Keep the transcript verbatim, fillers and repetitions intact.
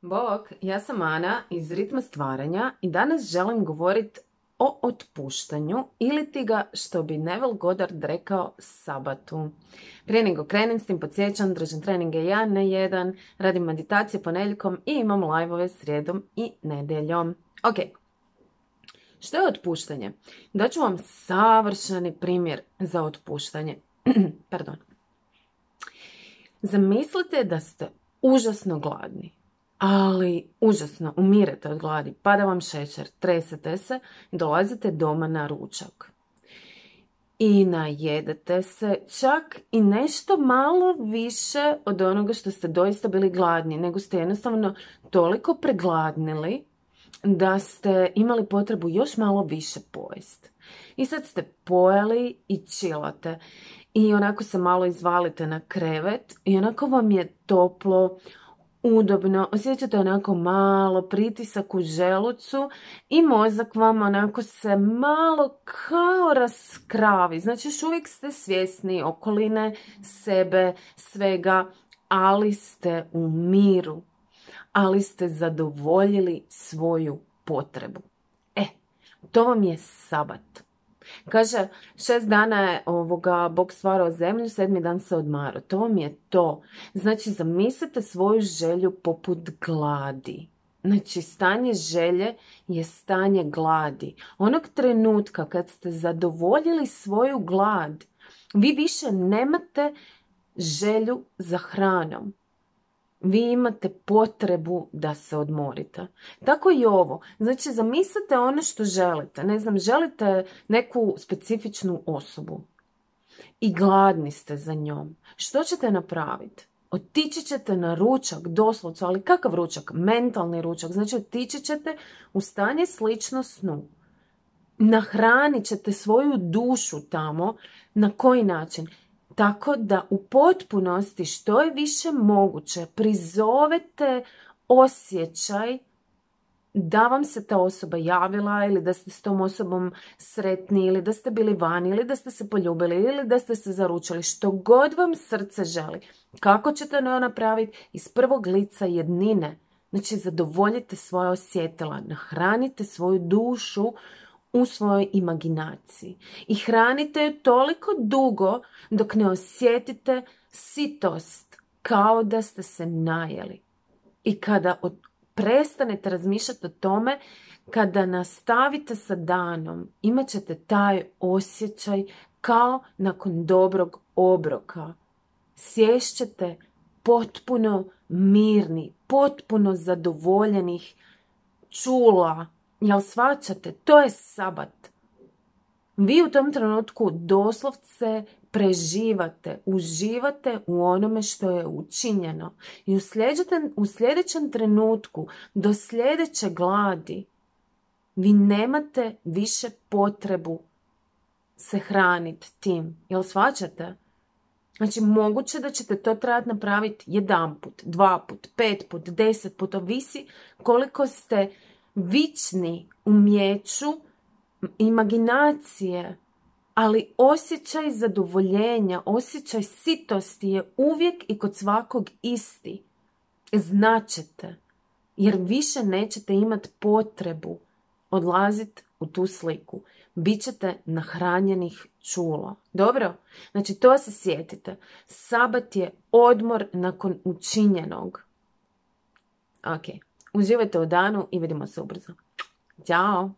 Bog, ja sam Ana iz Ritma stvaranja i danas želim govoriti o otpuštanju ili ti ga, što bi Neville Goddard rekao, sabatu. Prije nego krenem s tim, podsjećam, držim treninge ja na jedan, radim meditacije ponedjeljkom i imam live-ove srijedom i nedjeljom. Ok, što je otpuštanje? Daću vam savršeni primjer za otpuštanje. Pardon. Zamislite da ste užasno gladni. Ali užasno, umirete od gladi, pada vam šećer, tresete se i dolazite doma na ručak. I najedete se čak i nešto malo više od onoga što ste doista bili gladni, nego ste jednostavno toliko pregladnili da ste imali potrebu još malo više pojesti. I sad ste pojeli i chillate. I onako se malo izvalite na krevet i onako vam je toplo, udobno, osjećate onako malo pritisak u želucu i mozak vam onako se malo kao raskravi. Znači još uvijek ste svjesni okoline, sebe, svega, ali ste u miru, ali ste zadovoljili svoju potrebu. E, to vam je sabat. Kaže, šest dana je ovoga Bog stvarao zemlju, sedmi dan se odmarao. To vam je to. Znači, zamislite svoju želju poput gladi. Znači, stanje želje je stanje gladi. Onog trenutka kad ste zadovoljili svoju glad, vi više nemate želju za hranom. Vi imate potrebu da se odmorite. Tako i ovo. Znači, zamislite ono što želite. Ne znam, želite neku specifičnu osobu i gladni ste za njom. Što ćete napraviti? Otići ćete na ručak, doslovce, ali kakav ručak? Mentalni ručak. Znači, otići ćete u stanje slično snu. Nahranit ćete svoju dušu tamo. Na koji način? Tako da u potpunosti što je više moguće prizovete osjećaj da vam se ta osoba javila ili da ste s tom osobom sretni ili da ste bili vani ili da ste se poljubili ili da ste se zaručili. Što god vam srce želi. Kako ćete to napraviti? Iz prvog lica jednine. Znači zadovoljite svoje osjetila, nahranite svoju dušu u svojoj imaginaciji. I hranite ju toliko dugo dok ne osjetite sitost kao da ste se najeli. I kada od, prestanete razmišljati o tome, kada nastavite sa danom, imat ćete taj osjećaj kao nakon dobrog obroka. Sješćete potpuno mirni, potpuno zadovoljenih čula. Jel shvaćate? To je sabat. Vi u tom trenutku doslovce preživate, uživate u onome što je učinjeno. I u, u sljedećem trenutku, do sljedeće gladi, vi nemate više potrebu se hraniti tim. Jel shvaćate? Znači, moguće da ćete to trebati napraviti jedan put, dva put, pet put, deset put, ovisi koliko ste vični umijeću imaginacije, ali osjećaj zadovoljenja, osjećaj sitosti je uvijek i kod svakog isti. Značete, jer više nećete imati potrebu odlaziti u tu sliku. Bićete nahranjenih čula. Dobro? Znači, to se sjetite. Sabat je odmor nakon učinjenog. Ok. Uživajte u danu i vidimo se ubrzo. Ćao!